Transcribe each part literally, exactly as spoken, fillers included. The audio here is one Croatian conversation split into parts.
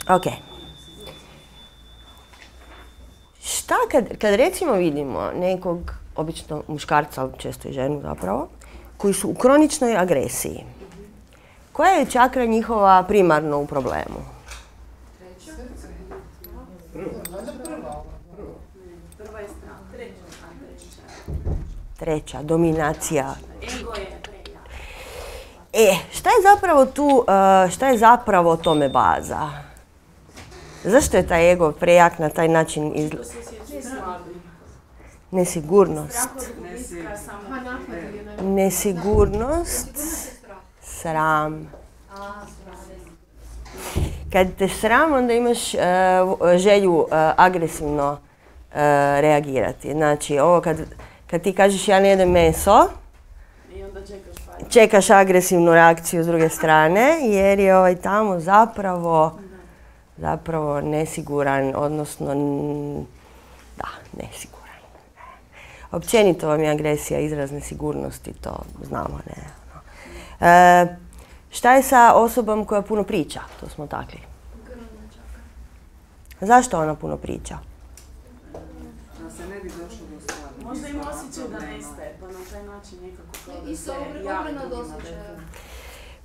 Ok. Šta kad, kad recimo vidimo nekog, obično muškarca, ali često i ženu zapravo, koji su u kroničnoj agresiji, koja je čakra njihova primarno u problemu? Treća, dominacija. E, šta je zapravo tu, šta je zapravo tome baza? Zašto je taj ego prejak na taj način iz... Nesigurnost. Nesigurnost. Sram. Kad te sram, onda imaš uh, želju uh, agresivno uh, reagirati. Znači, ovo kad, kad ti kažeš ja ne jedem meso, čekaš agresivnu reakciju s druge strane, jer je ovaj tamo zapravo, zapravo nesiguran, odnosno, da, nesiguran. Općenito vam je agresija izraz nesigurnosti, to znamo, ne. E, šta je sa osobom koja puno priča? To smo takli. Zašto ona puno priča? Da se ne bi došlo do stvari. Možda ima osjećaj da nestaje, pa na taj način nekako kao da se javno osjećaja.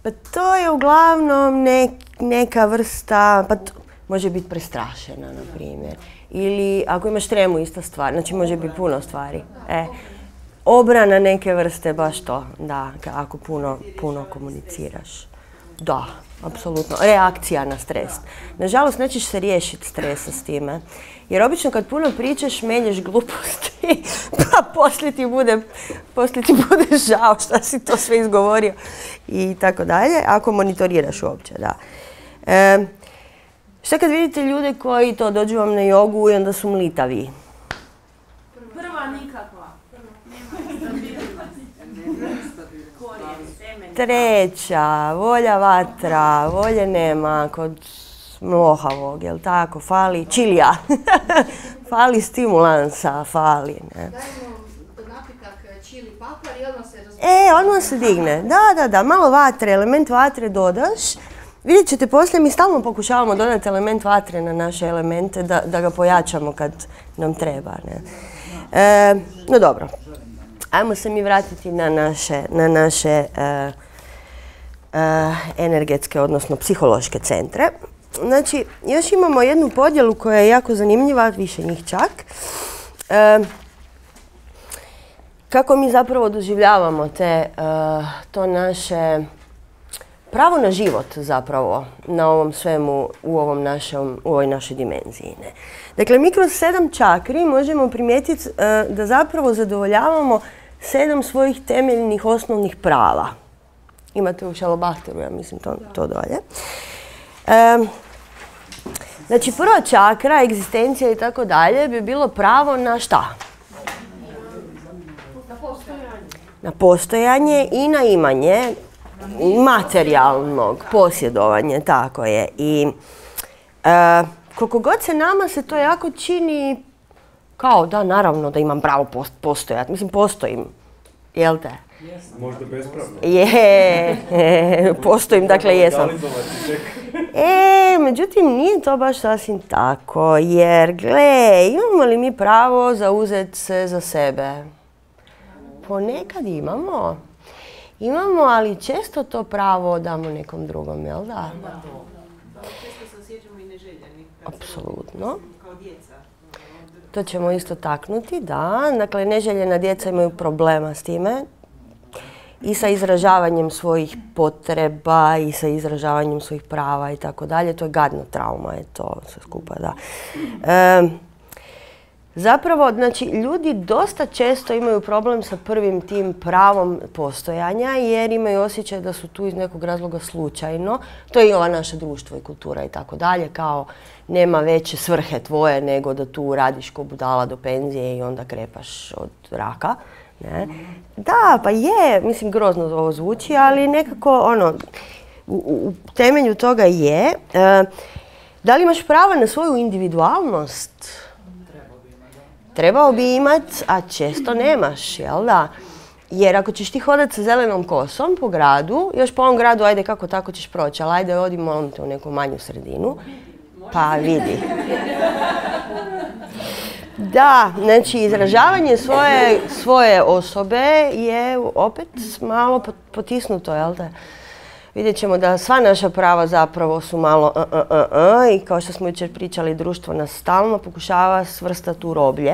Pa to je uglavnom nek, neka vrsta, pa to može biti prestrašena, na primjer. Ili ako imaš tremu, ista stvar, znači može biti puno stvari. E, obrana neke vrste, baš to, da, ako puno, puno komuniciraš. Da, apsolutno. Reakcija na stres. Nažalost, nećeš se riješiti stresa s time. Jer obično kad puno pričaš, melješ gluposti, pa poslije ti bude, poslije ti bude žao šta si to sve izgovorio i tako dalje, ako monitoriraš uopće, da. E, šta kad vidite ljude koji to dođu vam na jogu i onda su mlitavi? Prva nikakva. Treća, volja vatra, volje nema kod mlohavog, jel tako, fali čilija, fali stimulansa, fali, ne. Dajmo napitak čili papar i odmah se razpije. E, odmah se digne, da, da, da, malo vatre, element vatre dodaš. Vidjet ćete poslije, mi stalno pokušavamo dodati element vatre na naše elemente, da, da ga pojačamo kad nam treba, ne. E, no dobro, ajmo se mi vratiti na naše, na naše uh, uh, energetske, odnosno psihološke centre. Znači, još imamo jednu podjelu koja je jako zanimljiva, više njih čak. E, kako mi zapravo doživljavamo te, uh, to naše pravo na život zapravo na ovom svemu, u, ovom našem, u ovoj našoj dimenziji. Ne? Dakle, mi kroz sedam čakri možemo primijetiti uh, da zapravo zadovoljavamo sedam svojih temeljnih osnovnih prava. Imate u Šalobahteru, ja mislim, to, to dolje. Um, znači, prva čakra, egzistencija i tako dalje, bi bilo pravo na šta? Na postojanje. Na postojanje i na imanje materijalnog posjedovanja, tako je. I uh, koliko god se nama se to jako čini kao da, naravno, da imam pravo post postojati. Mislim, postojim. Jel te? Možda bespravno. Je, postojim, dakle jesam. E, međutim, nije to baš sasvim tako, jer, gle, imamo li mi pravo zauzeti se za sebe? Ponekad imamo. Imamo, ali često to pravo damo nekom drugom, jel da? Da, često se osjećamo i neželjeni. Apsolutno. Kao djeca. To ćemo isto taknuti, da. Dakle, neželjena djeca imaju problema s time. I sa izražavanjem svojih potreba i sa izražavanjem svojih prava i tako dalje. To je gadna trauma, je to sve skupa, da. E, zapravo, znači, ljudi dosta često imaju problem sa prvim tim pravom postojanja jer imaju osjećaj da su tu iz nekog razloga slučajno. To je i ova naša društvo i kultura i tako dalje, kao nema veće svrhe tvoje nego da tu radiš ko budala do penzije i onda krepaš od raka. Ne? Da, pa je, mislim, grozno ovo zvuči, ali nekako, ono, u, u temelju toga je. E, da li imaš pravo na svoju individualnost? Trebao bi imat, a često nemaš, jel da? Jer ako ćeš ti hodati sa zelenom kosom po gradu, još po ovom gradu, ajde kako tako ćeš proći, ali ajde odi molim te u neku manju sredinu, pa vidi. Da, znači izražavanje svoje, svoje osobe je opet malo potisnuto, jel te? Vidjet ćemo da sva naša prava zapravo su malo uh, uh, uh, uh, i kao što smo jučer pričali, društvo nas stalno pokušava svrstati u roblje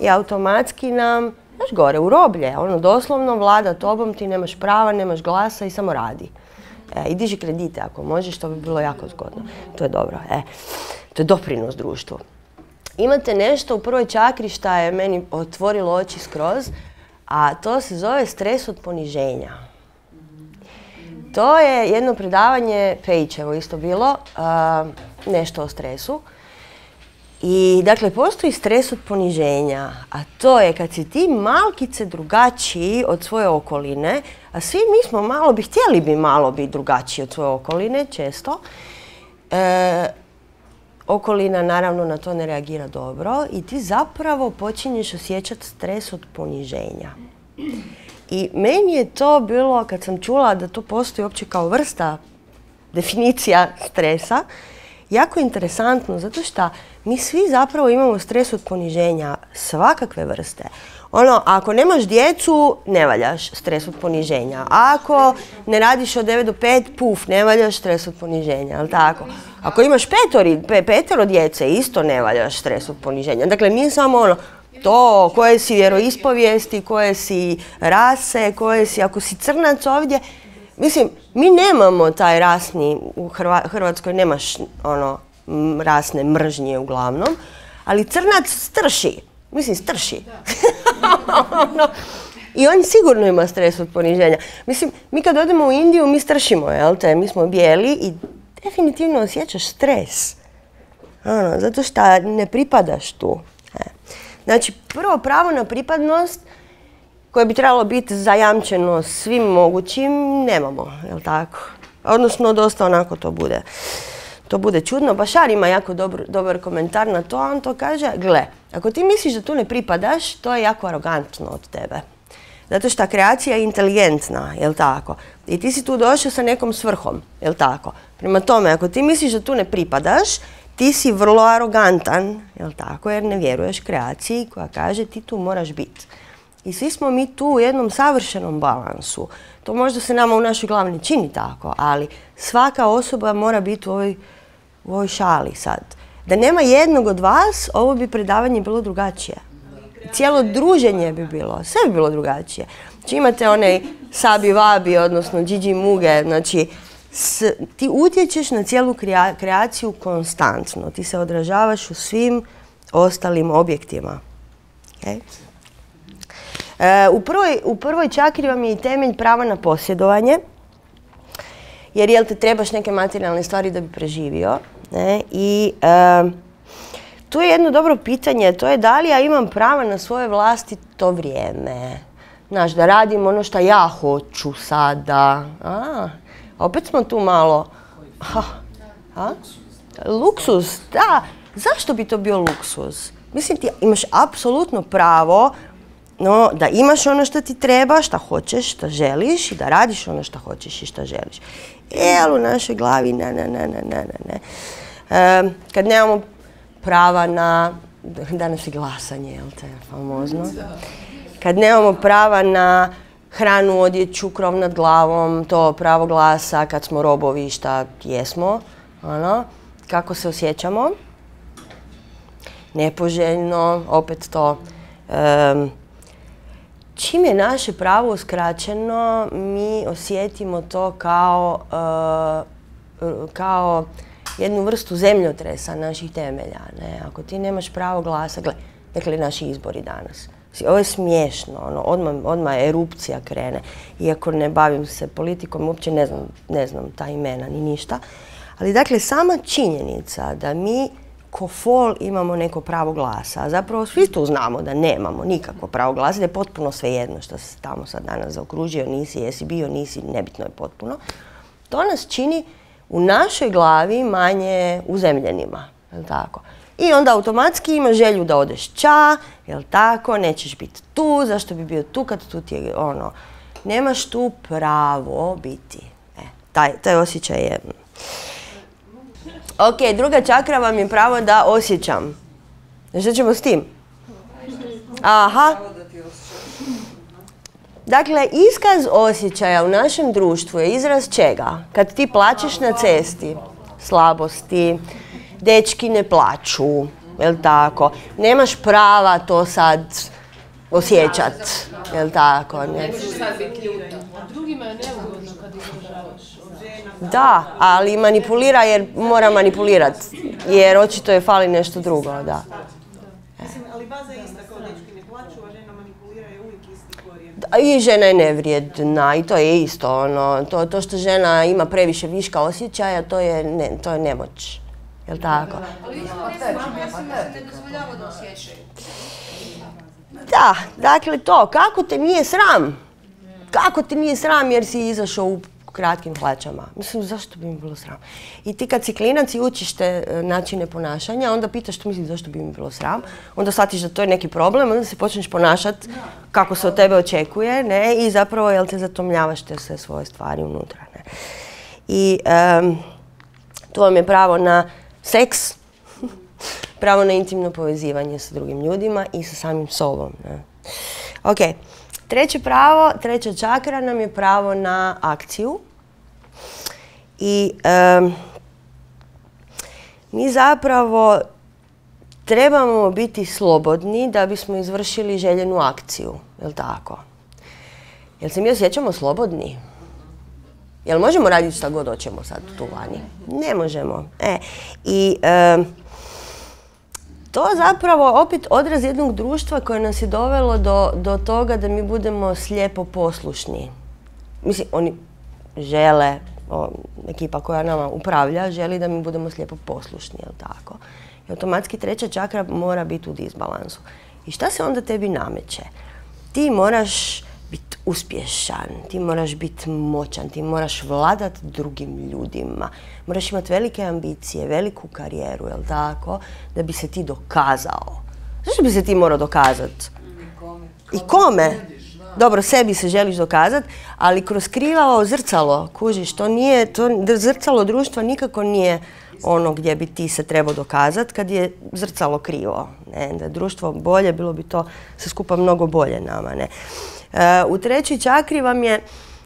i automatski nam, znaš, gore u roblje, ono doslovno vlada tobom, ti nemaš prava, nemaš glasa i samo radi. E, I diži kredite ako možeš, to bi bilo jako zgodno. To je dobro, e. To je doprinos društvu. Imate nešto u prvoj čakri što je meni otvorilo oči skroz, a to se zove stres od poniženja. To je jedno predavanje, Pejićevo isto bilo, uh, nešto o stresu. I dakle, postoji stres od poniženja, a to je kad si ti malkice drugačiji od svoje okoline, a svi mi smo malo bi, htjeli bi malo biti drugačiji od svoje okoline, često. E, okolina naravno na to ne reagira dobro i ti zapravo počinješ osjećati stres od poniženja. I meni je to bilo, kad sam čula da to postoji uopće kao vrsta, definicija stresa, jako interesantno, zato što mi svi zapravo imamo stres od poniženja svakakve vrste. Ono, ako nemaš djecu, ne valjaš, stres od poniženja. Ako ne radiš od devet do pet, puf, ne valjaš, stres od poniženja, jel tako? Ako imaš petori, pe, petero djece, isto ne valjaš, stres od poniženja. Dakle, nije samo ono, to koje si vjeroispovijesti, koje si rase, koje si, ako si crnac ovdje, mislim, mi nemamo taj rasni, u Hrva, Hrvatskoj nemaš ono, rasne mržnje uglavnom, ali crnac strši, mislim strši. ono, I on sigurno ima stres od poniženja. Mislim, mi kad odemo u Indiju, mi stršimo, jel te, mi smo bijeli i definitivno osjećaš stres. Ono, zato što ne pripadaš tu. E. Znači, prvo pravo na pripadnost koje bi trebalo biti zajamčeno svim mogućim, nemamo, jel tako? Odnosno, dosta onako to bude. To bude čudno. Bašar ima jako dobar, dobar komentar na to, on to kaže, gle, ako ti misliš da tu ne pripadaš, to je jako arogantno od tebe. Zato što kreacija je inteligentna, jel tako? I ti si tu došao sa nekom svrhom, jel tako? Prema tome, ako ti misliš da tu ne pripadaš, ti si vrlo arogantan, jel tako? Jer ne vjeruješ kreaciji koja kaže ti tu moraš biti. I svi smo mi tu u jednom savršenom balansu. To možda se nama u našoj glavi ne čini tako, ali svaka osoba mora biti u ovoj, u ovoj šali sad. Da nema jednog od vas, ovo bi predavanje bilo drugačije. Cijelo druženje bi bilo, sve bi bilo drugačije. Znači imate onaj Sabi Vabi, odnosno Gigi Muge, znači s, ti utječeš na cijelu krea, kreaciju konstantno. Ti se odražavaš u svim ostalim objektima. Okay? E, u, prvoj, u prvoj čakri vam je i temelj prava na posjedovanje, jer jel te trebaš neke materijalne stvari da bi preživio. Ne? I e, tu je jedno dobro pitanje, to je da li ja imam prava na svoje vlastito vrijeme. Znaš, da radim ono što ja hoću sada. A, opet smo tu malo... Ha, a? Luksuz, da. Zašto bi to bio luksuz? Mislim, ti imaš apsolutno pravo no, da imaš ono što ti treba, što hoćeš, što želiš i da radiš ono što hoćeš i što želiš. E, ali u našoj glavi ne, ne, ne, ne, ne, ne. E, kad nemamo prava na, danas je glasanje, jel te, famozno. Kad nemamo prava na hranu, odjeću, krov nad glavom, to pravo glasa, kad smo robovi, šta jesmo, ono, kako se osjećamo. Nepoželjno, opet to. Um, čim je naše pravo uskraćeno, mi osjetimo to kao, uh, kao jednu vrstu zemljotresa naših temelja. Ne? Ako ti nemaš pravo glasa, gle, dakle naši izbori danas. Ovo je smiješno, ono, odmah, odmah erupcija krene. Iako ne bavim se politikom, uopće ne znam, ne znam ta imena ni ništa. Ali dakle, sama činjenica da mi ko fol imamo neko pravo glasa, a zapravo svi tu znamo da nemamo nikakvo pravo glasa, da je potpuno svejedno što se tamo sad danas zaokružio, nisi, jesi bio, nisi, nebitno je potpuno. To nas čini u našoj glavi manje uzemljenima, je li tako? I onda automatski imaš želju da odeš ča, jel tako, nećeš biti tu, zašto bi bio tu kad tu ti je ono, nemaš tu pravo biti. E, taj, taj osjećaj je... Ok, druga čakra vam je pravo da osjećam. Što ćemo s tim? Aha. Dakle, iskaz osjećaja u našem društvu je izraz čega? Kad ti plačeš na cesti, slabosti, dečki ne plaču, jel tako? Nemaš prava to sad osjećat, jel tako? Ne. Drugima je neugodno kad izražavaš. Da, ali manipulira jer mora manipulirat, jer očito je fali nešto drugo, da. Mislim, ali baza je ista kao dečki ne plaču, a žena manipulira je uvijek isti korijen. I žena je nevrijedna i to je isto, ono, to, to što žena ima previše viška osjećaja, to je, ne, to je nemoć, jel tako? Ali isto ne se ne dozvoljava da osjećaju. Da, dakle to, kako te nije sram? Kako te nije sram jer si izašao u kratkim hlačama? Mislim, zašto bi mi bilo sram? I ti kad si klinac i učiš te načine ponašanja, onda pitaš što misliš zašto bi mi bilo sram, onda shvatiš da to je neki problem, onda se počneš ponašati kako se od tebe očekuje, ne? I zapravo, jel te zatomljavaš te sve svoje stvari unutra, ne? I um, tu vam je pravo na seks, pravo na intimno povezivanje sa drugim ljudima i sa samim sobom, ne? Ok. Treće pravo, treća čakra nam je pravo na akciju. I um, mi zapravo trebamo biti slobodni da bismo izvršili željenu akciju, jel tako? Jel se mi osjećamo slobodni? Jel možemo raditi šta god hoćemo sad tu vani? Ne možemo. E, i... Um, To zapravo opet odraz jednog društva koje nas je dovelo do, do toga da mi budemo slijepo poslušni. Mislim, oni žele, o, ekipa koja nama upravlja, želi da mi budemo slijepo poslušni, jel tako? I automatski treća čakra mora biti u disbalansu. I šta se onda tebi nameće? Ti moraš biti uspješan, ti moraš biti moćan, ti moraš vladat drugim ljudima, moraš imati velike ambicije, veliku karijeru, jel tako, da bi se ti dokazao. Zašto bi se ti morao dokazati? I kome? Dobro, sebi se želiš dokazati, ali kroz krivavo zrcalo, kužiš, to nije, to zrcalo društva nikako nije ono gdje bi ti se trebao dokazati kad je zrcalo krivo. Ne? Da je društvo bolje, bilo bi to sve skupa mnogo bolje nama, ne? U trećoj čakri vam je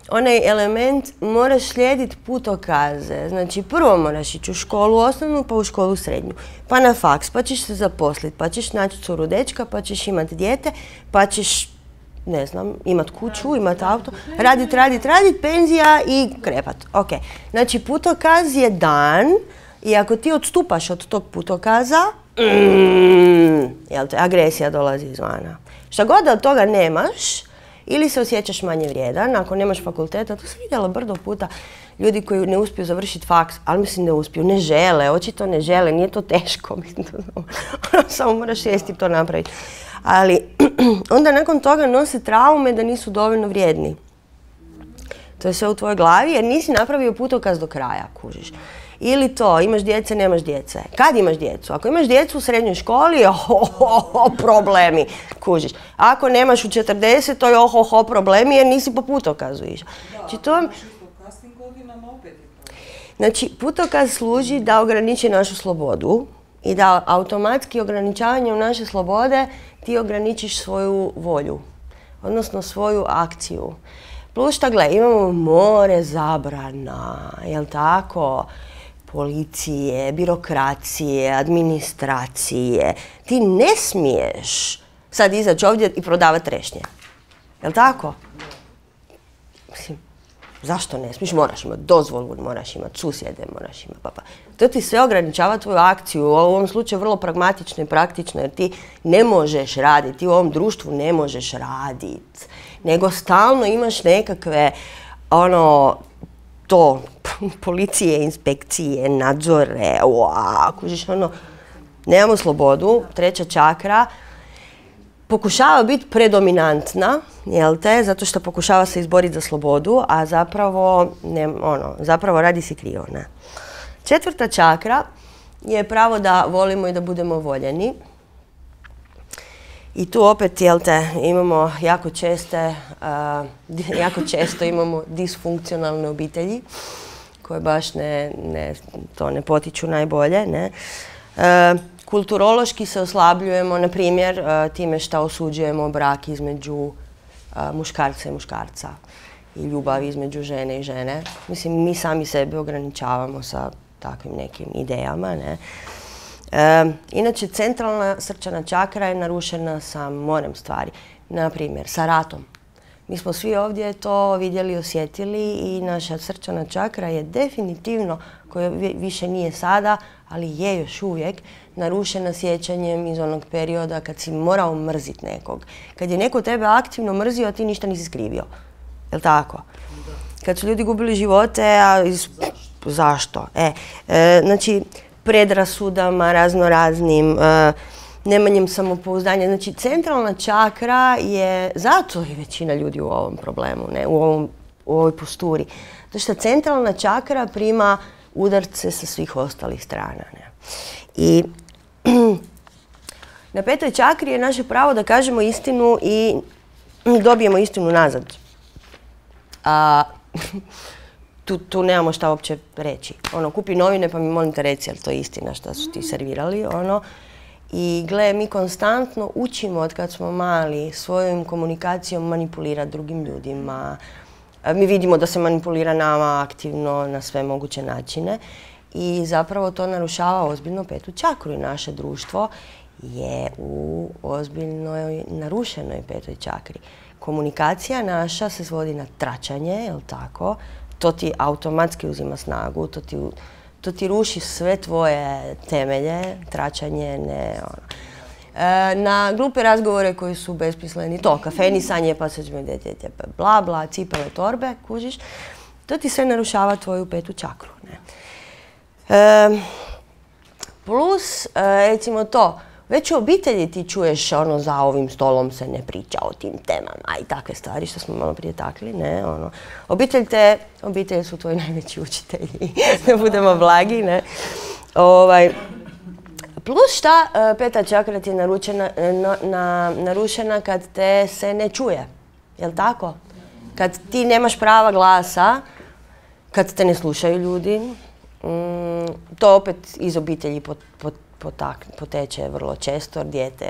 onaj element, moraš slijediti putokaze. Znači, prvo moraš ići u školu osnovnu, pa u školu srednju, pa na faks, pa ćeš se zaposliti, pa ćeš naći curu dečka, pa ćeš imati dijete, pa ćeš, ne znam, imat kuću, imat auto, radit, radit, radit, penzija i krepat. Ok, znači putokaz je dan i ako ti odstupaš od tog putokaza, mm, jel te, agresija dolazi izvana. Šta god da od toga nemaš, ili se osjećaš manje vrijedan, ako nemaš fakulteta, to sam vidjela brdo puta, ljudi koji ne uspiju završiti faks, ali mislim ne uspiju, ne žele, očito ne žele, nije to teško, samo moraš sjesti to napraviti. Ali onda nakon toga nose traume da nisu dovoljno vrijedni. To je sve u tvojoj glavi jer nisi napravio putokaz do kraja, kužiš. Ili to, imaš djece, nemaš djece. Kad imaš djecu? Ako imaš djecu u srednjoj školi, ohohoho, problemi, kužiš. Ako nemaš u četrdesetoj, ohoho, problemi jer nisi po putokazu išao. Znači, to vam... Znači, putokaz služi da ograniči našu slobodu i da automatski ograničavanjem naše slobode ti ograničiš svoju volju, odnosno svoju akciju. Plus šta, gle, imamo more zabrana, jel tako? Policije, birokracije, administracije. Ti ne smiješ sad izaći ovdje i prodavati trešnje. Jel tako? Mislim, zašto ne smiješ? Moraš imati dozvolu, moraš imati susjede, moraš imati papa. To ti sve ograničava tvoju akciju. U ovom slučaju vrlo pragmatično i praktično jer ti ne možeš raditi, ti u ovom društvu ne možeš raditi. Nego stalno imaš nekakve, ono, to, policije, inspekcije, nadzore, uaa, kužiš, ono, nemamo slobodu, treća čakra, pokušava biti predominantna, jel te, zato što pokušava se izboriti za slobodu, a zapravo, ne, ono, zapravo radi se krivo, ne. Četvrta čakra je pravo da volimo i da budemo voljeni. I tu opet, jel te, imamo jako česte, uh, jako često imamo disfunkcionalne obitelji koje baš ne, ne, to ne potiču najbolje. Ne? Uh, kulturološki se oslabljujemo, na primjer, uh, time što osuđujemo brak između uh, muškarca i muškarca i ljubav između žene i žene. Mislim, mi sami sebe ograničavamo sa takvim nekim idejama. Ne? E, inače, centralna srčana čakra je narušena sa morem stvari. Na primjer, sa ratom. Mi smo svi ovdje to vidjeli, osjetili i naša srčana čakra je definitivno, koja više nije sada, ali je još uvijek, narušena sjećanjem iz onog perioda kad si morao mrziti nekog. Kad je neko tebe aktivno mrzio, a ti ništa nisi skrivio. Jel' tako? Kad su ljudi gubili živote, a iz... zašto? Zašto? E, e, znači, predrasudama, razno raznim, e, nemanjem samopouzdanja. Znači, centralna čakra je, zato je većina ljudi u ovom problemu, ne, u, ovom, u ovoj posturi. Zato što centralna čakra prima udarce sa svih ostalih strana. Ne. I na petoj čakri je naše pravo da kažemo istinu i dobijemo istinu nazad. A, tu, tu nemamo šta uopće reći. Ono, kupi novine pa mi molim te reci, jel to je istina što su ti servirali. Ono. I gle, mi konstantno učimo od kad smo mali svojom komunikacijom manipulirati drugim ljudima. Mi vidimo da se manipulira nama aktivno na sve moguće načine i zapravo to narušava ozbiljno petu čakru i naše društvo je u ozbiljnoj narušenoj petoj čakri. Komunikacija naša se svodi na tračanje, jel tako? To ti automatski uzima snagu, to ti, to ti ruši sve tvoje temelje, tračanje, ne ono. E, na glupe razgovore koji su besmisleni, to, kafenisanje, pa se bla bla, cipele, torbe, kužiš, to ti sve narušava tvoju petu čakru. Ne? E, plus, e, recimo to, već u obitelji ti čuješ ono za ovim stolom se ne priča o tim temama i takve stvari što smo malo prije takli, ne, ono. Obitelj te, obitelji su tvoji najveći učitelji, da budemo blagi, ne. Ovaj, plus šta, peta čakra ti je naručena, na, na, narušena kad te se ne čuje, jel tako? Kad ti nemaš prava glasa, kad te ne slušaju ljudi, mm, to opet iz obitelji pot, pot, Potak, poteče vrlo često, jer dijete,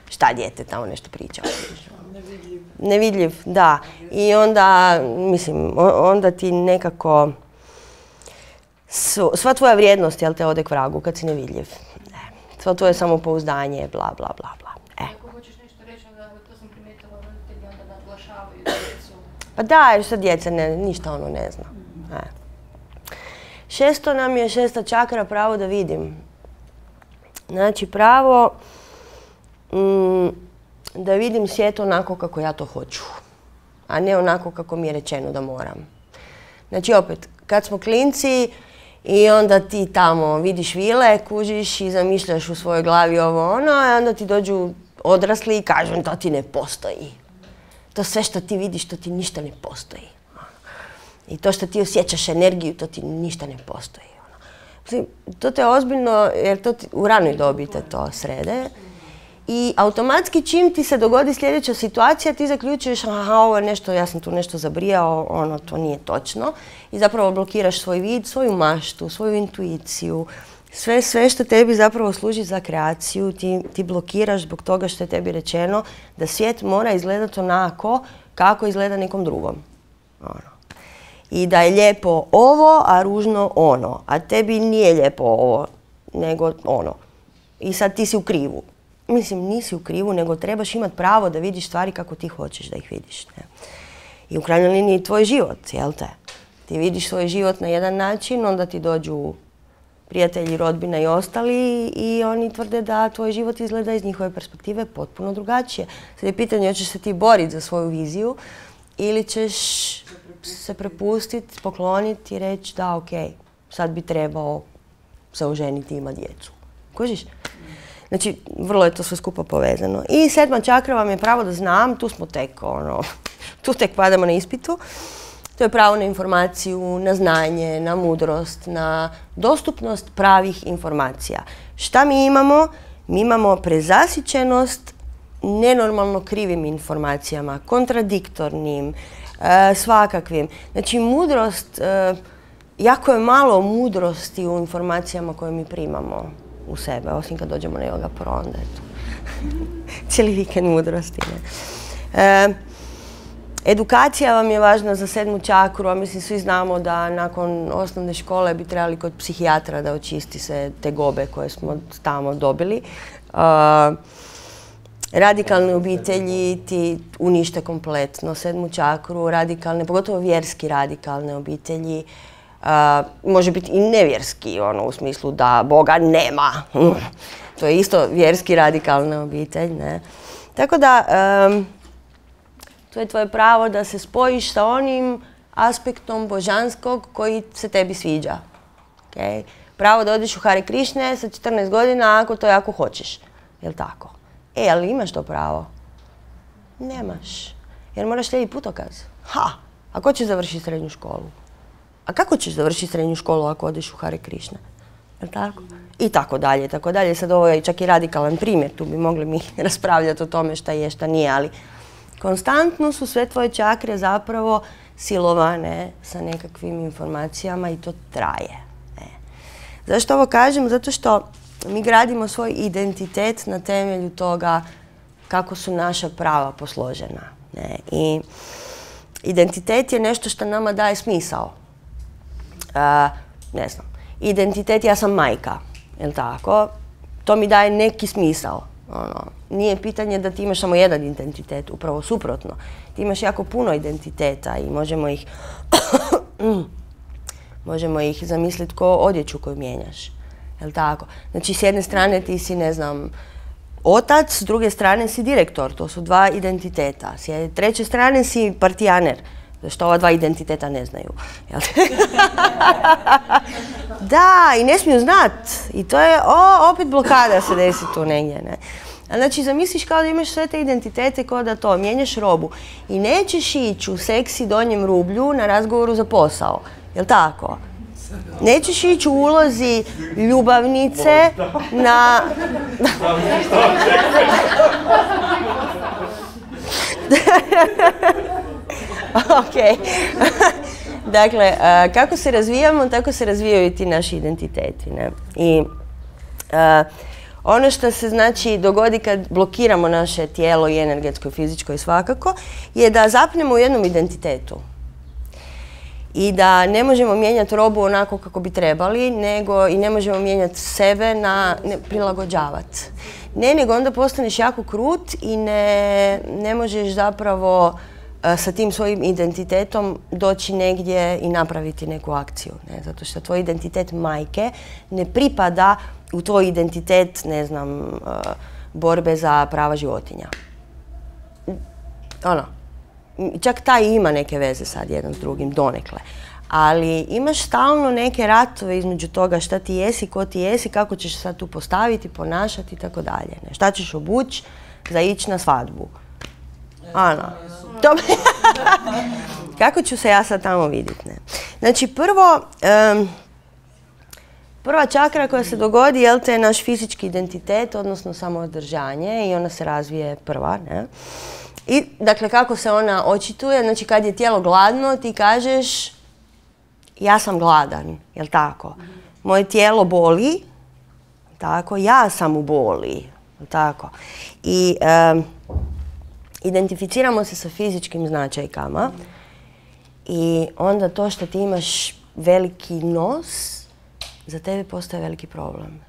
šta dijete tamo nešto priča? Nevidljiv. Nevidljiv, da. I onda, mislim, onda ti nekako, sva tvoja vrijednost, jel te, ode k vragu kad si nevidljiv. Sva tvoje samopouzdanje, bla, bla, bla, bla. E. Ako hoćeš nešto reći, onda to sam primijetila, roditelji onda naglašavaju djecu. Pa da, jer što djeca ne, ništa ono ne zna. E. Šesto nam je, šesta čakra, pravo da vidim. Znači, pravo mm, da vidim svijet onako kako ja to hoću, a ne onako kako mi je rečeno da moram. Znači, opet, kad smo klinci i onda ti tamo vidiš vile, kužiš i zamišljaš u svojoj glavi ovo ono, a onda ti dođu odrasli i kažu to ti ne postoji. To sve što ti vidiš, to ti ništa ne postoji. I to što ti osjećaš energiju, to ti ništa ne postoji. To te ozbiljno, jer to ti, u ranoj dobi te to srede. I automatski čim ti se dogodi sljedeća situacija, ti zaključuješ, aha, ovo je nešto, ja sam tu nešto zabrijao, ono, to nije točno. I zapravo blokiraš svoj vid, svoju maštu, svoju intuiciju. Sve, sve što tebi zapravo služi za kreaciju, ti, ti blokiraš zbog toga što je tebi rečeno da svijet mora izgledati onako kako izgleda nekom drugom. Ono. I da je lijepo ovo, a ružno ono. A tebi nije lijepo ovo, nego ono. I sad ti si u krivu. Mislim, nisi u krivu, nego trebaš imati pravo da vidiš stvari kako ti hoćeš da ih vidiš. Ne? I u krajnjoj liniji tvoj život, jel te? Ti vidiš svoj život na jedan način, onda ti dođu prijatelji, rodbina i ostali i oni tvrde da tvoj život izgleda iz njihove perspektive potpuno drugačije. Sad je pitanje, hoćeš se ti boriti za svoju viziju ili ćeš se prepustiti, pokloniti i reći da, ok, sad bi trebao se oženiti i imati djecu. Kužiš? Znači, vrlo je to sve skupo povezano. I sedma čakra vam je pravo da znam, tu smo tek, ono, tu tek padamo na ispitu. To je pravo na informaciju, na znanje, na mudrost, na dostupnost pravih informacija. Šta mi imamo? Mi imamo prezasićenost nenormalno krivim informacijama, kontradiktornim, e, svakakvim. Znači, mudrost, e, jako je malo mudrosti u informacijama koje mi primamo u sebe, osim kad dođemo na Yoga Pro, onda je to cijeli vikend mudrosti. Ne? E, edukacija vam je važna za sedmu čakru, a mislim svi znamo da nakon osnovne škole bi trebali kod psihijatra da očisti se te gobe koje smo tamo dobili. Uh, radikalne obitelji ti unište kompletno sedmu čakru, radikalne, pogotovo vjerski radikalne obitelji. Uh, može biti i nevjerski, ono, u smislu da Boga nema. To je isto vjerski radikalna obitelj, ne? Tako da, um, to je tvoje pravo da se spojiš sa onim aspektom božanskog koji se tebi sviđa. Okay? Pravo da odeš u Hare Krišne sa četrnaest godina ako to jako hoćeš. Jel' tako? E, ali imaš to pravo? Nemaš. Jer moraš slijediti putokaz. Ha! A ko će završiti srednju školu? A kako ćeš završiti srednju školu ako odeš u Hare Krišne? Jel' tako? I tako dalje, tako dalje. Sad ovo je čak i radikalan primjer. Tu bi mogli mi raspravljati o tome šta je, šta nije, ali konstantno su sve tvoje čakre zapravo silovane sa nekakvim informacijama i to traje. E. Zašto ovo kažem? Zato što mi gradimo svoj identitet na temelju toga kako su naša prava posložena. Ne? I identitet je nešto što nama daje smisao. A, ne znam, identitet, ja sam majka, jel' tako? To mi daje neki smisao. Ono, nije pitanje da ti imaš samo jedan identitet, upravo suprotno. Ti imaš jako puno identiteta i možemo ih možemo ih zamisliti kao odjeću koju mijenjaš. Jel' tako? Znači, s jedne strane ti si, ne znam, otac, s druge strane si direktor. To su dva identiteta. S treće strane si partijaner. Zašto ova dva identiteta ne znaju. Da, i ne smiju znat. I to je, o, opet blokada se desi tu negdje. Ne? Znači, zamisliš kao da imaš sve te identitete kao da to, mijenjaš robu. I nećeš ići u seksi donjem rublju na razgovoru za posao. Jel' tako? Nećeš ići u ulozi ljubavnice na... Ok. Dakle, uh, kako se razvijamo, tako se razvijaju i ti naši identiteti. Ne? I uh, ono što se znači dogodi kad blokiramo naše tijelo i energetsko, i fizičko i svakako, je da zapnemo u jednom identitetu. I da ne možemo mijenjati robu onako kako bi trebali, nego i ne možemo mijenjati sebe na ne, prilagođavati. Ne, nego onda postaneš jako krut i ne, ne možeš zapravo uh, sa tim svojim identitetom doći negdje i napraviti neku akciju. Ne? Zato što tvoj identitet majke ne pripada u tvoj identitet, ne znam, uh, borbe za prava životinja. Ono. Čak taj ima neke veze sad jedan s drugim, donekle. Ali imaš stalno neke ratove između toga šta ti jesi, ko ti jesi, kako ćeš sad tu postaviti, ponašati i tako dalje. Šta ćeš obući za ići na svadbu. Ano. Kako ću se ja sad tamo vidjeti? Ne? Znači prvo, um, prva čakra koja se dogodi, jel te, je naš fizički identitet, odnosno samoodržanje i ona se razvije prva. Ne? I, dakle, kako se ona očituje, znači kad je tijelo gladno, ti kažeš ja sam gladan, jel tako? Moje tijelo boli, tako, ja sam u boli, jel tako? I um, identificiramo se sa fizičkim značajkama i onda to što ti imaš veliki nos, za tebe postaje veliki problem.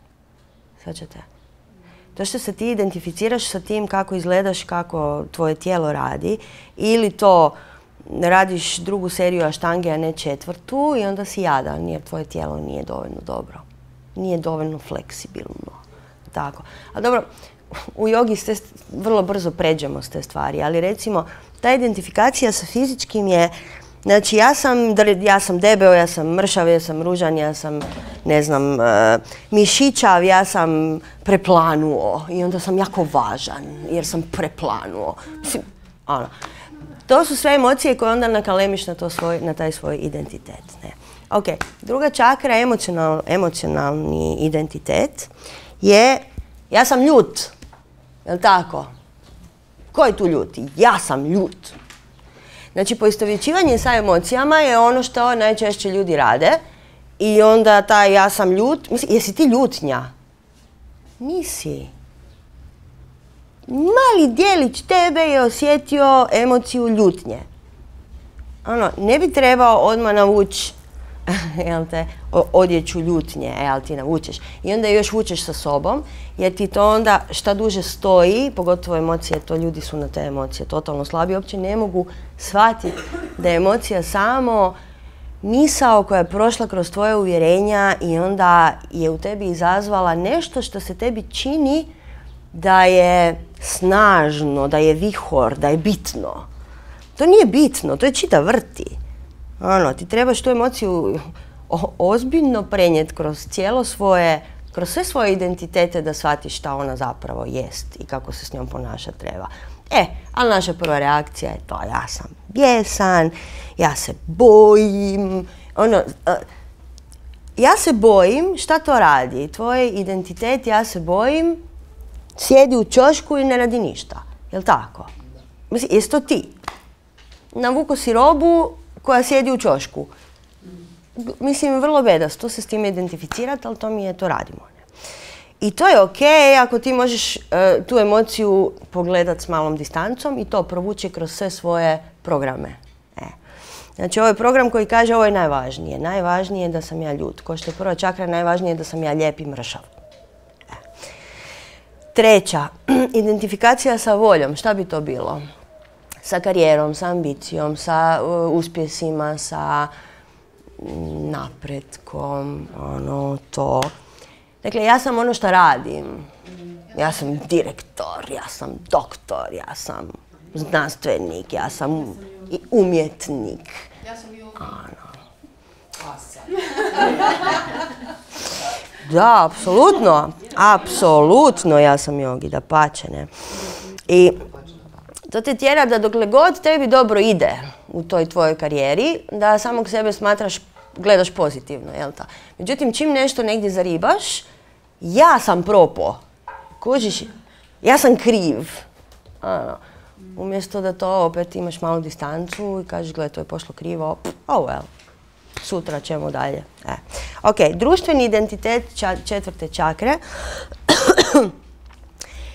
Svaćate? To što se ti identificiraš sa tim kako izgledaš, kako tvoje tijelo radi, ili to radiš drugu seriju aštange, a ne četvrtu, i onda si jadan jer tvoje tijelo nije dovoljno dobro. Nije dovoljno fleksibilno. Tako. Ali dobro, u jogi ste vrlo brzo pređemo s te stvari, ali recimo ta identifikacija sa fizičkim je, znači ja sam, ja sam debeo, ja sam mršav, ja sam ružan, ja sam, ne znam, uh, mišićav, ja sam preplanuo i onda sam jako važan jer sam preplanuo. Mislim, ono. to su sve emocije koje onda nakalemiš na, to svoj, na taj svoj identitet. Ne? Ok, druga čakra, emocional, emocionalni identitet, je ja sam ljut. Jel' tako? Ko je tu ljut? Ja sam ljut. Znači, poistovjećivanje sa emocijama je ono što najčešće ljudi rade i onda taj ja sam ljut, mislim, jesi ti ljutnja? Nisi. Mali dijelić tebe je osjetio emociju ljutnje. Ono, ne bi trebao odmah navući jel te, odjeću ljutnje, e, ali ti navučeš. I onda još vučeš sa sobom, jer ti to onda šta duže stoji, pogotovo emocije, to ljudi su na te emocije totalno slabi, uopće ne mogu shvatiti da je emocija samo misao koja je prošla kroz tvoje uvjerenja i onda je u tebi izazvala nešto što se tebi čini da je snažno, da je vihor, da je bitno. To nije bitno, to je čita vrti. Ono, ti trebaš tu emociju ozbiljno prenijeti kroz cijelo svoje, kroz sve svoje identitete da shvatiš šta ona zapravo jest i kako se s njom ponašati treba. E, ali naša prva reakcija je to, ja sam bijesan, ja se bojim, ono, uh, ja se bojim, šta to radi? Tvoj identitet, ja se bojim, sjedi u ćošku i ne radi ništa, jel' tako? Mislim, jesi to ti? Navuko si robu koja sjedi u ćošku. Mislim, vrlo bedasto se s time identificirati, ali to mi je, to radimo. Ne? I to je okej ako ti možeš uh, tu emociju pogledati s malom distancom i to provući kroz sve svoje programe. E. Znači, ovo je program koji kaže ovo je najvažnije. Najvažnije je da sam ja ljut. Ko što je prva čakra, najvažnije je da sam ja lijep i mršav. E. Treća, identifikacija sa voljom. Šta bi to bilo? Sa karijerom, sa ambicijom, sa uh, uspjesima, sa napretkom, ono, to. Dakle, ja sam ono što radim. Ja sam direktor, ja sam doktor, ja sam znanstvenik, ja sam i umjetnik. Ja sam i ono. Da, apsolutno. Apsolutno ja sam jogi, dapače, ne. I to te tjera da dokle god tebi dobro ide u toj tvojoj karijeri, da samog sebe smatraš, gledaš pozitivno, jel' ta? Međutim, čim nešto negdje zaribaš, ja sam propo. Kužiš, ja sam kriv. Ano, umjesto da to opet imaš malu distancu i kažeš, gledaj, to je pošlo krivo, oh well, sutra ćemo dalje. E. Ok, društveni identitet četvrte čakre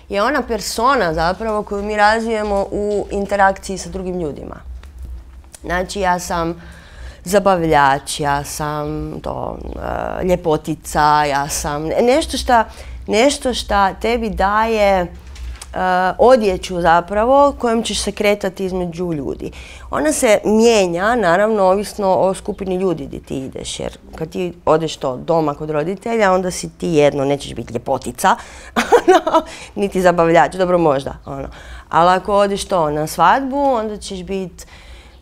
je ona persona zapravo koju mi razvijemo u interakciji sa drugim ljudima. Znači, ja sam zabavljač, ja sam to, uh, ljepotica, ja sam nešto šta, nešto šta tebi daje uh, odjeću zapravo kojom ćeš se kretati između ljudi. Ona se mijenja, naravno, ovisno o skupini ljudi gdje ti ideš, jer kad ti odeš to doma kod roditelja, onda si ti jedno, nećeš biti ljepotica, niti zabavljač, dobro možda, ono. Ali ako odeš to na svadbu, onda ćeš biti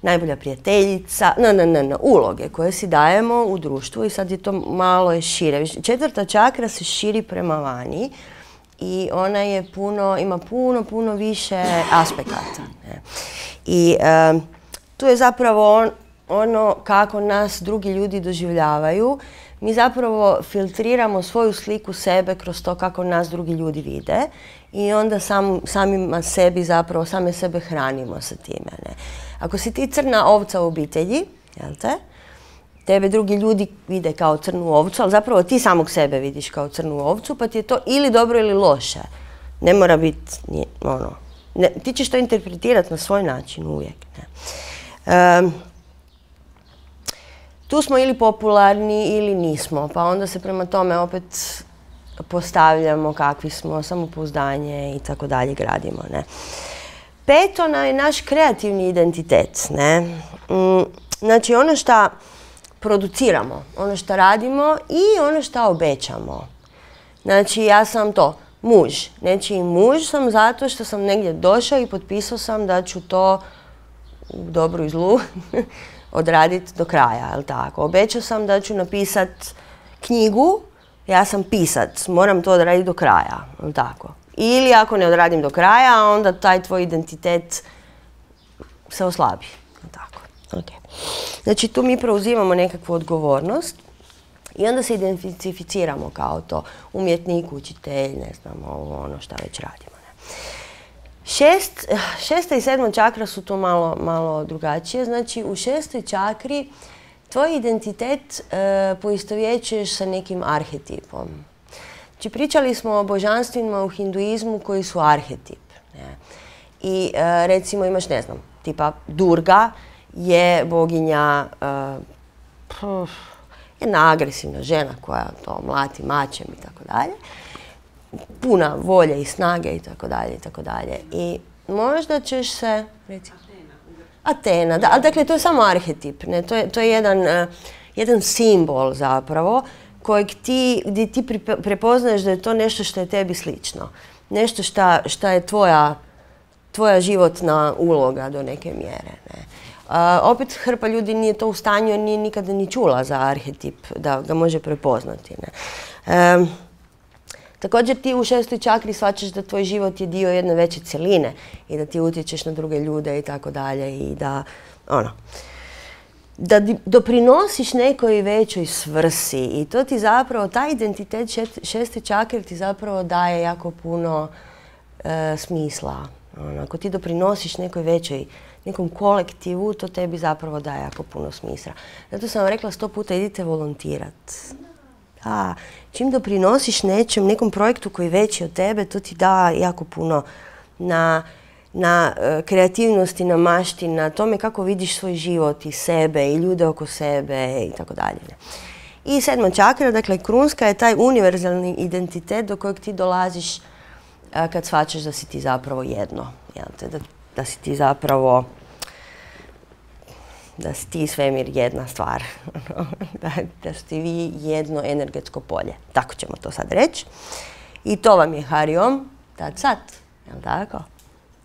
najbolja prijateljica, ne, ne, ne, ne, uloge koje si dajemo u društvu i sad je to malo je šire. Četvrta čakra se širi prema vani i ona je puno, ima puno, puno više aspekata. Ne. I um, tu je zapravo on, ono kako nas drugi ljudi doživljavaju. Mi zapravo filtriramo svoju sliku sebe kroz to kako nas drugi ljudi vide i onda sam, samima sebi zapravo, same sebe hranimo sa time. Ne. Ako si ti crna ovca u obitelji, jel te? Tebe drugi ljudi vide kao crnu ovcu, ali zapravo ti samog sebe vidiš kao crnu ovcu, pa ti je to ili dobro ili loše. Ne mora biti, ono, ne, ti ćeš to interpretirati na svoj način uvijek. Ne. Um, tu smo ili popularni ili nismo, pa onda se prema tome opet postavljamo kakvi smo, samopouzdanje i tako dalje gradimo. Ne. Peto je naš kreativni identitet. Ne. Mm, znači ono što produciramo, ono što radimo i ono što obećamo. Znači ja sam to, muž. Znači muž sam zato što sam negdje došao i potpisao sam da ću to u dobru i zlu odraditi do kraja, jel tako? Obećao sam da ću napisati knjigu, ja sam pisac, moram to odraditi do kraja, jel tako? Ili ako ne odradim do kraja, onda taj tvoj identitet se oslabi. Tako. Okay. Znači tu mi preuzimamo nekakvu odgovornost i onda se identificiramo kao to umjetnik, učitelj, ne znam, ovo, ono šta već radimo. Ne? Šest, šesta i sedma čakra su tu malo, malo drugačije. Znači u šestoj čakri tvoj identitet e, poistovjećuješ sa nekim arhetipom. Znači pričali smo o božanstvima u hinduizmu koji su arhetip. Ne? I e, recimo imaš, ne znam, tipa Durga je boginja, uh, jedna agresivna žena koja to mlati mačem i tako dalje. Puna volje i snage i tako dalje i tako dalje. I možda ćeš se, recimo, Atena, da, ali dakle to je samo arhetip, ne? To je, to je jedan, uh, jedan simbol zapravo kojeg ti, gdje ti prepoznaješ da je to nešto što je tebi slično. Nešto šta, šta je tvoja, tvoja životna uloga do neke mjere, ne? Uh, opet hrpa ljudi nije to u stanju jer nije nikada ni čula za arhetip da ga može prepoznati. Ne? Um, također ti u šestoj čakri shvaćaš da tvoj život je dio jedne veće cjeline i da ti utječeš na druge ljude i tako dalje i da, ono, da doprinosiš nekoj većoj svrsi i to ti zapravo, taj identitet šeste čakre ti zapravo daje jako puno uh, smisla. Ono, ako ti doprinosiš nekoj većoj nekom kolektivu, to tebi zapravo daje jako puno smisla. Zato sam vam rekla sto puta idite volontirat. Da, čim doprinosiš nečem, nekom projektu koji je veći od tebe, to ti da jako puno na, na uh, kreativnosti, na mašti, na tome kako vidiš svoj život i sebe i ljude oko sebe i tako dalje. I sedma čakra, dakle krunska, je taj univerzalni identitet do kojeg ti dolaziš uh, kad shvaćaš da si ti zapravo jedno. Jel te, da, da si ti zapravo, da si ti svemir jedna stvar, da, da ste vi jedno energetsko polje. Tako ćemo to sad reći. I to vam je Hariom, tad sad, jel tako?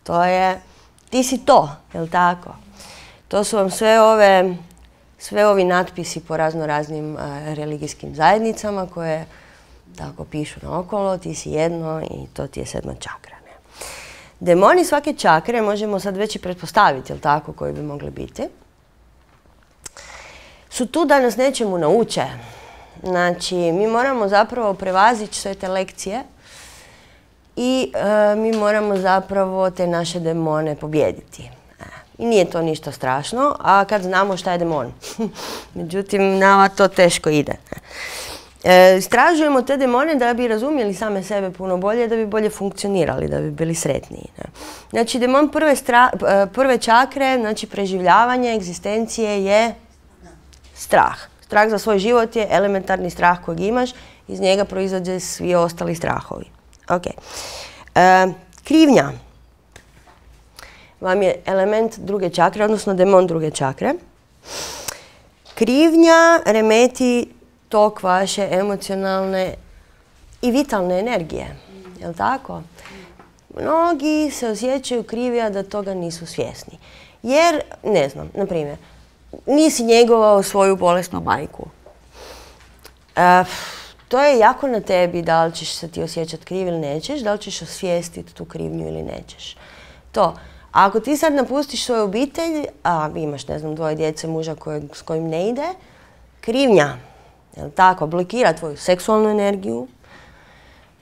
To je, ti si to, jel tako? To su vam sve ove, sve ovi natpisi po razno raznim uh, religijskim zajednicama koje tako pišu naokolo, ti si jedno i to ti je sedma čakra. Ne? Demoni svake čakre možemo sad već i pretpostaviti, jel tako, koji bi mogli biti. Su tu da nas nečemu nauče. Znači, mi moramo zapravo prevazići sve te lekcije i e, mi moramo zapravo te naše demone pobijediti. E, I nije to ništa strašno, a kad znamo šta je demon. Međutim, nama to teško ide. E, istražujemo te demone da bi razumjeli same sebe puno bolje, da bi bolje funkcionirali, da bi bili sretniji. Ne? Znači, demon prve, stra, prve čakre, znači preživljavanje, egzistencije je strah. Strah za svoj život je elementarni strah kojeg imaš, iz njega proizađe svi ostali strahovi. Okay. E, krivnja vam je element druge čakre, odnosno demon druge čakre. Krivnja remeti tok vaše emocionalne i vitalne energije. Jel' tako? Mnogi se osjećaju krivi, a da toga nisu svjesni. Jer, ne znam, na primjer, nisi njegovao svoju bolesnu majku. E, to je jako na tebi da li ćeš se ti osjećati kriv ili nećeš, da li ćeš osvijestiti tu krivnju ili nećeš. To. A ako ti sad napustiš svoju obitelj, a imaš, ne znam, dvoje djece, muža kojeg, s kojim ne ide, krivnja, jel' tako, blokira tvoju seksualnu energiju,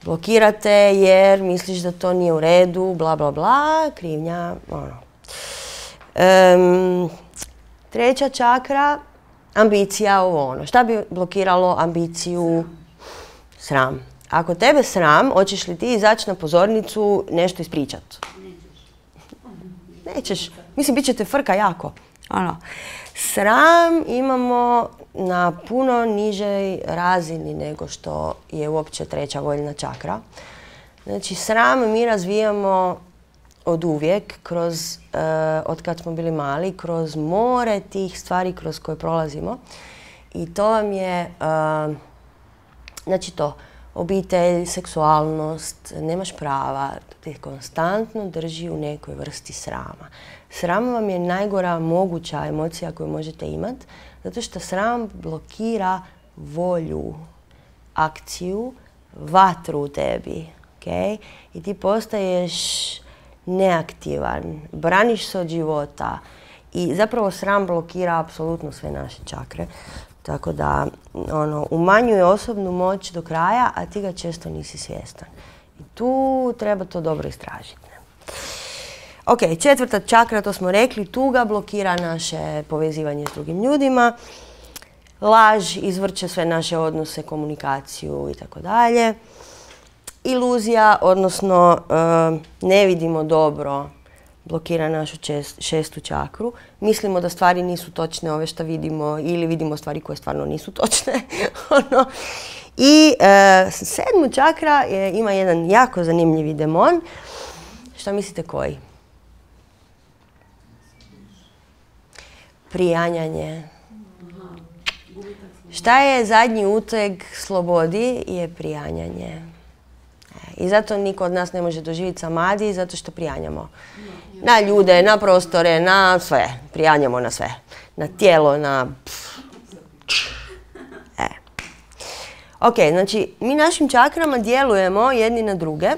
blokira te jer misliš da to nije u redu, bla, bla, bla, krivnja, ono. Um, Treća čakra, ambicija, ovo ono. Šta bi blokiralo ambiciju? Sram. Ako tebe sram, hoćeš li ti izaći na pozornicu nešto ispričat? Nećeš. Mislim, bit će te frka jako. Ono. Sram imamo na puno nižoj razini nego što je uopće treća voljna čakra. Znači, sram mi razvijamo od uvijek, kroz, uh, od kad smo bili mali, kroz more tih stvari kroz koje prolazimo. I to vam je, uh, znači to, obitelj, seksualnost, nemaš prava, te konstantno drži u nekoj vrsti srama. Sram vam je najgora moguća emocija koju možete imati, zato što sram blokira volju, akciju, vatru u tebi. Okay? I ti postaješ neaktivan, braniš se od života I zapravo sram blokira apsolutno sve naše čakre. Tako da ono, umanjuje osobnu moć do kraja, a ti ga često nisi svjestan. I tu treba to dobro istražiti. Ok, četvrta čakra, to smo rekli, tuga blokira naše povezivanje s drugim ljudima. Laž izvrće sve naše odnose, komunikaciju i tako dalje. Iluzija, odnosno ne vidimo dobro, blokira našu šestu čakru. Mislimo da stvari nisu točne, ove što vidimo, ili vidimo stvari koje stvarno nisu točne. I sedmu čakra ima jedan jako zanimljivi demon. Šta mislite koji? Prijanjanje. Šta je zadnji uteg slobodi? Je prijanjanje. I zato niko od nas ne može doživjeti samadi, zato što prijanjamo. Na ljude, na prostore, na sve. Prijanjamo na sve. Na tijelo, na... E. Ok, znači mi našim čakrama djelujemo jedni na druge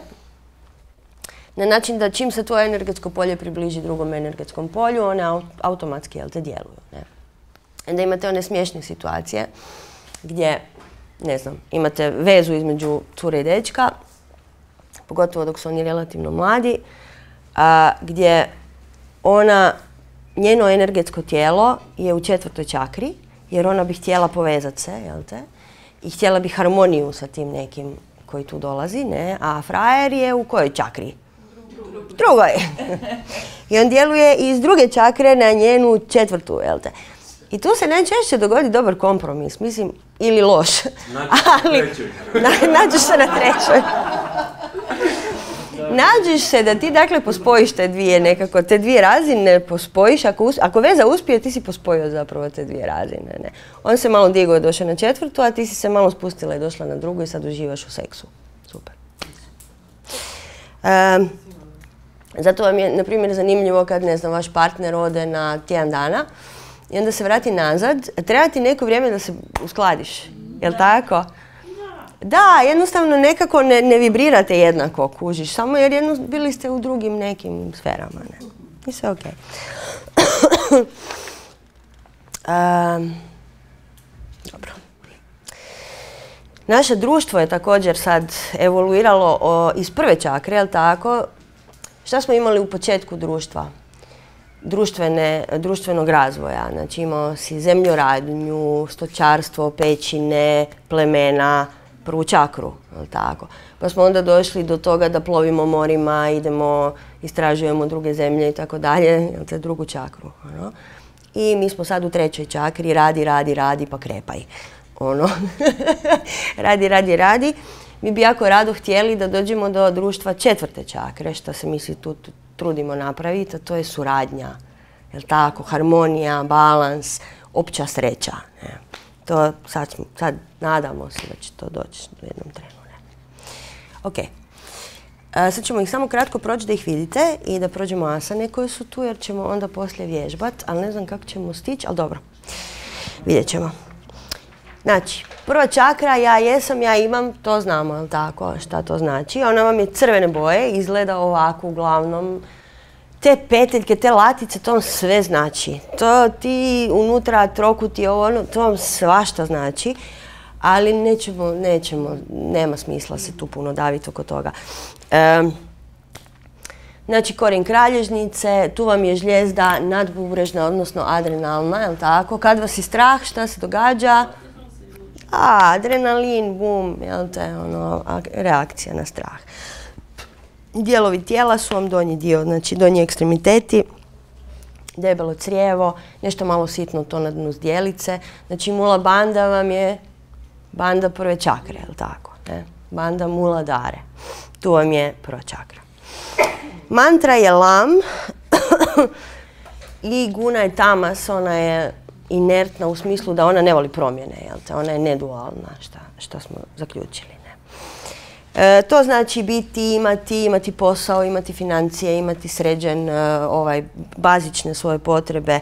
na način da čim se tvoje energetsko polje približi drugom energetskom polju, one automatski, jel te, djeluju. Ne? Onda imate one smiješne situacije gdje, ne znam, imate vezu između cure i dečka, pogotovo dok su oni relativno mladi, a, gdje ona, njeno energetsko tijelo je u četvrtoj čakri, jer ona bi htjela povezati se, jel te, i htjela bi harmoniju sa tim nekim koji tu dolazi, ne, a frajer je u kojoj čakri? Drugoj. I on djeluje iz druge čakre na njenu četvrtu, jel te. I tu se najčešće dogodi dobar kompromis, mislim, ili loš. Nađeš se na trećoj. Nađeš se da ti, dakle, pospojiš te dvije nekako, te dvije razine pospojiš. Ako, ako veza uspije, ti si pospojio zapravo te dvije razine. Ne? On se malo digao i došao na četvrtu, a ti si se malo spustila i došla na drugu i sad uživaš u seksu. Super. Um, zato vam je, na primjer, zanimljivo kad, ne znam, vaš partner ode na tjedan dana i onda se vrati nazad. Treba ti neko vrijeme da se uskladiš. Jel' tako? Da, jednostavno nekako ne, ne vibrirate jednako, kužiš, samo jer jedno, bili ste u drugim nekim sferama. Ne? I sve okej. Um, dobro. Naše društvo je također sad evoluiralo o, iz prve čakre, jel' tako? Šta smo imali u početku društva? Društvene, društvenog razvoja. Znači imao si zemljoradnju, stočarstvo, pećine, plemena, prvu čakru, tako. Pa smo onda došli do toga da plovimo morima, idemo, istražujemo druge zemlje i tako dalje, te drugu čakru. Ono. I mi smo sad u trećoj čakri, radi, radi, radi, pa krepaj. Ono. radi, radi, radi. Mi bi jako rado htjeli da dođemo do društva četvrte čakre, što se mi tu trudimo napraviti, a to je suradnja. Jel' tako? Harmonija, balans, opća sreća. Ne? To sad, sad nadamo se da će to doći u jednom trenu. Ne? Ok. A, sad ćemo ih samo kratko proći da ih vidite i da prođemo asane koje su tu, jer ćemo onda poslije vježbati, ali ne znam kako ćemo stići, ali dobro. Vidjet ćemo. Znači, prva čakra, ja jesam, ja imam, to znamo, jel' tako, šta to znači. Ona vam je crvene boje, izgleda ovako uglavnom. Te peteljke, te latice, to vam sve znači. To ti unutra trokuti, ovo, ono, to vam svašta znači. Ali nećemo, nećemo, nema smisla se tu puno daviti oko toga. E, znači, korijen kralježnice, tu vam je žljezda nadbubrežna, odnosno adrenalna, jel' tako? Kad vas je strah, šta se događa? A, adrenalin, bum, jel' te, ono, reakcija na strah. Dijelovi tijela su vam donji dio, znači donji ekstremiteti, debelo crijevo, nešto malo sitno to na dnu zdjelice. Znači mula banda vam je banda prve čakre, jel' tako? Ne? Banda mula dare. Tu vam je prva čakra. Mantra je lam i guna je tamas, ona je inertna u smislu da ona ne voli promjene, jel' te? Ona je nedualna, šta, šta smo zaključili. E, to znači biti, imati, imati posao, imati financije, imati sređen, e, ovaj, bazične svoje potrebe,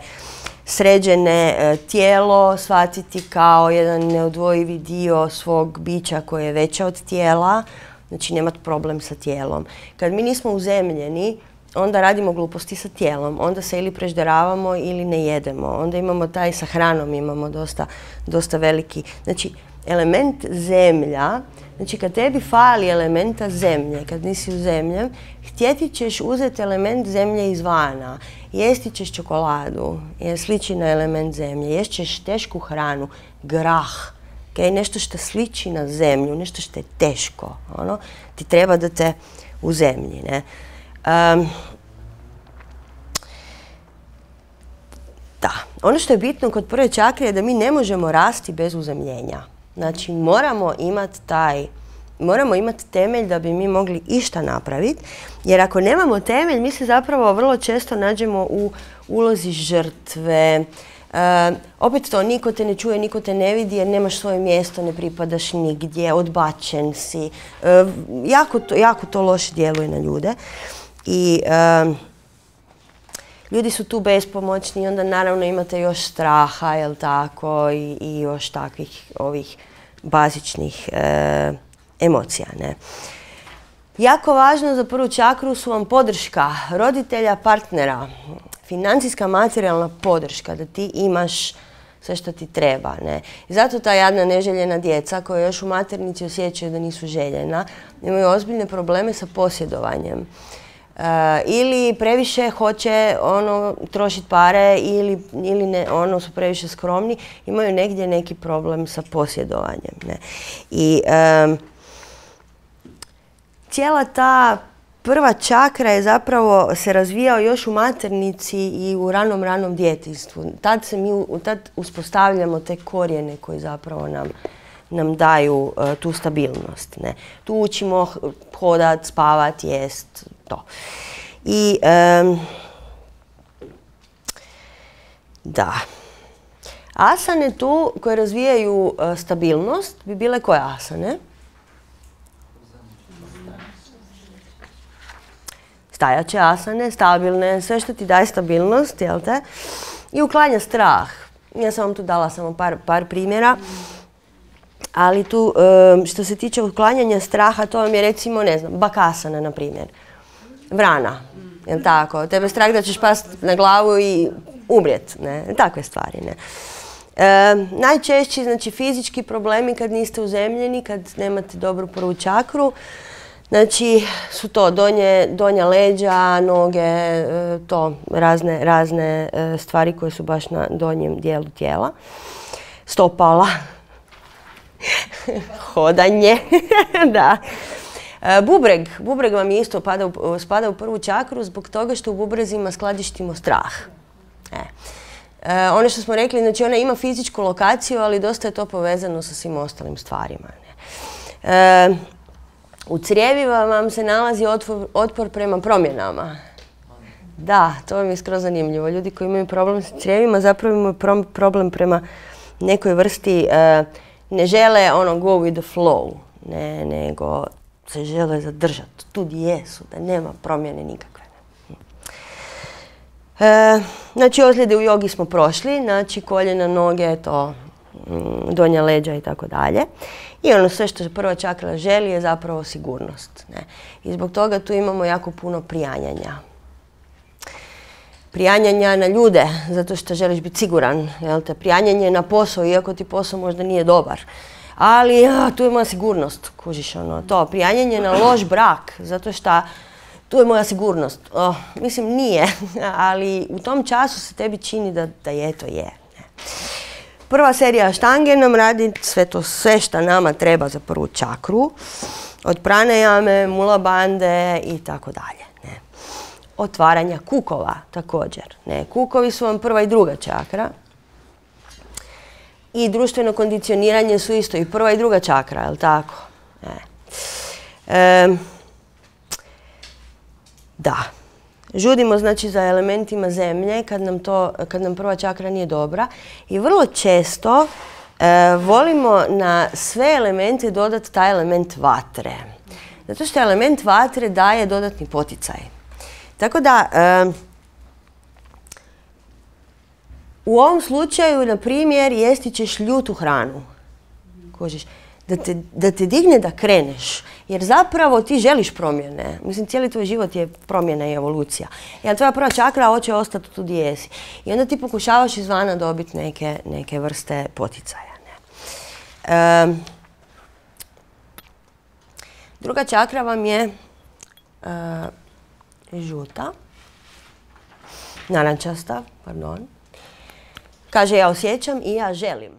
sređene e, tijelo, shvatiti kao jedan neodvojivi dio svog bića koje je veće od tijela, znači nemati problem sa tijelom. Kad mi nismo uzemljeni, onda radimo gluposti sa tijelom. Onda se ili prežderavamo ili ne jedemo. Onda imamo taj sa hranom, imamo dosta, dosta veliki. Znači, element zemlja, znači kad tebi fali elementa zemlje, kad nisi u zemlji, htjeti ćeš uzeti element zemlje izvana. Jesti ćeš čokoladu, jer sliči na element zemlje. Jesti ćeš tešku hranu, grah, okay? Nešto što sliči na zemlju, nešto što je teško. Ono, ti treba da te u zemlji. Ne? Um, da, ono što je bitno kod prve čakre je da mi ne možemo rasti bez uzemljenja. Znači, moramo imati taj, moramo imati temelj da bi mi mogli išta napraviti, jer ako nemamo temelj, mi se zapravo vrlo često nađemo u ulozi žrtve. E, opet to, niko te ne čuje, niko te ne vidi jer nemaš svoje mjesto, ne pripadaš nigdje, odbačen si. E, jako, to, jako to loše djeluje na ljude. I e, ljudi su tu bespomoćni i onda naravno imate još straha, jel tako, i, i još takvih ovih bazičnih e, emocija. Ne? Jako važno za prvu čakru su vam podrška roditelja, partnera, financijska, materijalna podrška, da ti imaš sve što ti treba. Ne? I zato ta jadna neželjena djeca koja još u maternici osjećaju da nisu željena, imaju ozbiljne probleme sa posjedovanjem. Uh, ili previše hoće ono trošiti pare ili, ili ne, ono su previše skromni, imaju negdje neki problem sa posjedovanjem. Ne? I um, cijela ta prva čakra je zapravo se razvijao još u maternici i u ranom, ranom djetinjstvu. Tad, se mi, tad uspostavljamo te korijene koji zapravo nam, nam daju uh, tu stabilnost. Ne? Tu učimo hodat, spavat, jest, to. I um, da. Asane tu koje razvijaju uh, stabilnost bi bile koje asane? Stajaće asane, stabilne, sve što ti daje stabilnost, jel te? I uklanja strah. Ja sam vam tu dala samo par, par primjera. Ali tu, um, što se tiče uklanjanja straha, to vam je recimo, ne znam, bakasana, na primjer. Vrana, jel tako? Tebe strah da ćeš past na glavu i umrijet, ne? Takve stvari, ne? E, najčešći, znači, fizički problemi kad niste uzemljeni, kad nemate dobru prvu čakru, znači, su to donje, donja leđa, noge, e, to, razne, razne e, stvari koje su baš na donjem dijelu tijela. Stopala. Hodanje, da. E, bubreg, bubreg vam isto pada u, spada u prvu čakru zbog toga što u bubrezima skladištimo strah. E. E, ono što smo rekli, znači ona ima fizičku lokaciju, ali dosta je to povezano sa svim ostalim stvarima. Ne? E, u crijevima vam se nalazi otpor, otpor prema promjenama. Da, to vam je skroz zanimljivo. Ljudi koji imaju problem sa crijevima zapravo imaju pro, problem prema nekoj vrsti e, ne žele ono go with the flow, ne, nego se žele zadržati tu gdje jesu, da nema promjene nikakve. E, znači, ozljede u jogi smo prošli, znači koljena, noge, to, donja leđa i tako dalje. I ono sve što prva čakra želi je zapravo sigurnost. Ne? I zbog toga tu imamo jako puno prijanjanja. Prijanjanja na ljude, zato što želiš biti siguran. Jel te? Prijanjanje na posao, iako ti posao možda nije dobar. Ali a, tu je moja sigurnost, kužiš ono, to. Prijanjanje na loš brak, zato što tu je moja sigurnost. Oh, mislim, nije, ali u tom času se tebi čini da, da je to je. Prva serija štange nam radi sve to, sve što nama treba za prvu čakru. Od pranajame, mula bande i tako dalje. Otvaranja kukova također. Ne, kukovi su vam prva i druga čakra. I društveno kondicioniranje su isto i prva i druga čakra, je li tako? Ne. E, da. Žudimo znači za elementima zemlje kad nam, to, kad nam prva čakra nije dobra. I vrlo često e, volimo na sve elemente dodati taj element vatre. Zato što element vatre daje dodatni poticaj. Tako da, e, u ovom slučaju, na primjer, jesti ćeš ljutu hranu. Kužiš. da te, da te digne da kreneš. Jer zapravo ti želiš promjene. Mislim, cijeli tvoj život je promjena i evolucija. Jer tvoja prva čakra hoće ostati tu gdje jesi. I onda ti pokušavaš izvana dobiti neke, neke vrste poticaja. Ne? Um, druga čakra vam je uh, žuta. Narančasta, pardon. Kaže, ja osjećam i ja želim.